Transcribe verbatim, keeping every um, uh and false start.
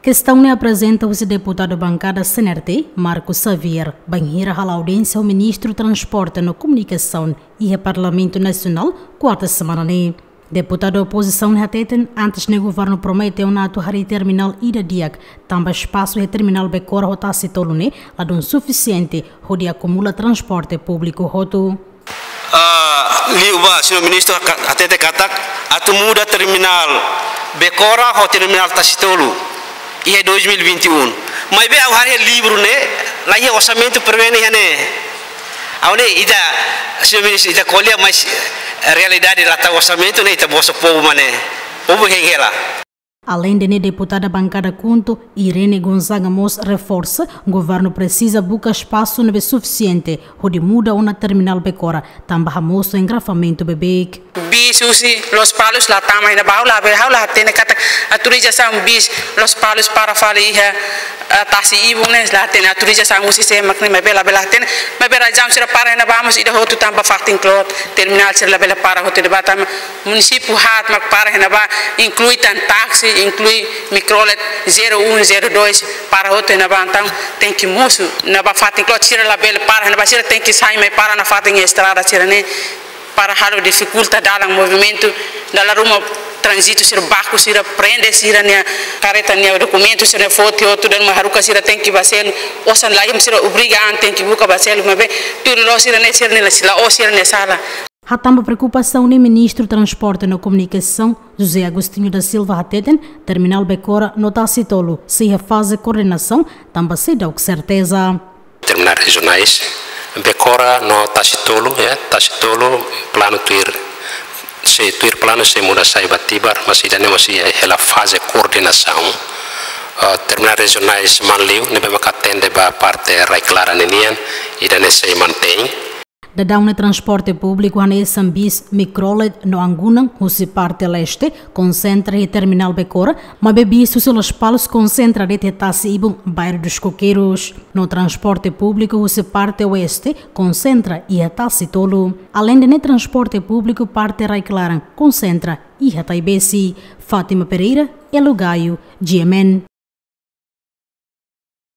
Kestaun ne'e aprezenta husi deputadu bankada C N R T, Marco Xavier, bainhira hala'o audiénsia ho Ministru Transporte no Komunikasaun iha Parlamentu Nasionál, kuarta semana ne'e. Deputadu opozisaun ne'e hateten, antes ne'e governu promete ona atu harii terminál ida di'ak, tanba espasu iha terminál Becora ho Tasi Tolu ne'e ladún sufisiente hodi akumula transporte públiku hotu. Ah, liu ba, señór Ministru ka-, hatete katak atu muda terminál Becora ho terminál Tasi Tolu iha dois mil e vinte e um. Maibé ha'u haree livru ne'e, laiha orsamentu prevene iha ne'e. Ha'u ne'e ita, señór Ministru, ita ko'alia, mas realidade la tau orsamentu ne'e, ita boso povu mak ne'e. Povu hein hela. Aleinde ne'e, deputada bankada KHUNTO, Irene Gonzaga mós reforsa, governu presiza buka espasu ne'ebé sufisiente hodi muda ona terminál Becora, tanba hamosu engarrafamentu beibeik. Bis husi Lospalos la tama iha ne'ebá, ha'u la be, ha'u la hatene katak autorizasaun bis Lospalos para fali iha, eh, Tasi Ibun ne'e, la hatene autorizasaun husi sé mak ne'e, maibé labele hatene, maibé razaun sira para iha ne'ebá mós ida hotu tanba fatin kloot, terminál sira labele para hotu iha ne'ebá tanba munisípiu haat mak para iha ne'ebá, inklui tan táksi, inklui mikrolet zero um, zero dois, para hotu iha ne'ebá, entaun tenke mosu, ne'ebá fatin kloot sira labele para iha ne'ebá, sira tenke sai mai para nafatin estrada sira-ne'e, para halo difikulta dalan movimentu, dala ruma tránzitu sira baku, sira prende sira-nia kareta nia dokumentu, sira-nia foti hotu, dala ruma haruka sira tenke ba selu, osan laiha sira obriga an tenke buka ba selu, maibé tuir loloos sira-ne'e, sira-ne'e la, la'ós sira-nia sala. Hatán ba preokupasaun ne'e Ministru Transporte no Komunikasaun, José Agostinho da Silva hateten, terminál Becora no Tasi Tolu sei iha faze koordenasaun, tanba seidauk serteza. Terminál rejionais, Becora no Tasi Tolu, ya, Tasi Tolu planu tuir, sei tuir planu sei muda sai ba Tibar, mas ida-ne'e mós iha hela faze koordenasaun. Ah, terminál rejionais Manliu, ne'ebé maka atende ba parte Rai Klaran ninian, ida-ne'e sei mantein. Daudaun ne'e transporte públiku hanesan bis, mikrolet no angunan husi parte leste konsentra iha terminál Becora, maibé bis husi Lospalos konsentra de'it iha Tasi Ibun, Bairro dos Coqueiros. No transporte públiku husi parte oeste konsentra iha Tasi Tolu. Aleinde ne'e transporte públiku parte Rai Klaran konsentra iha Taibesi. Fátima Pereira, Elo Gaio, G M N.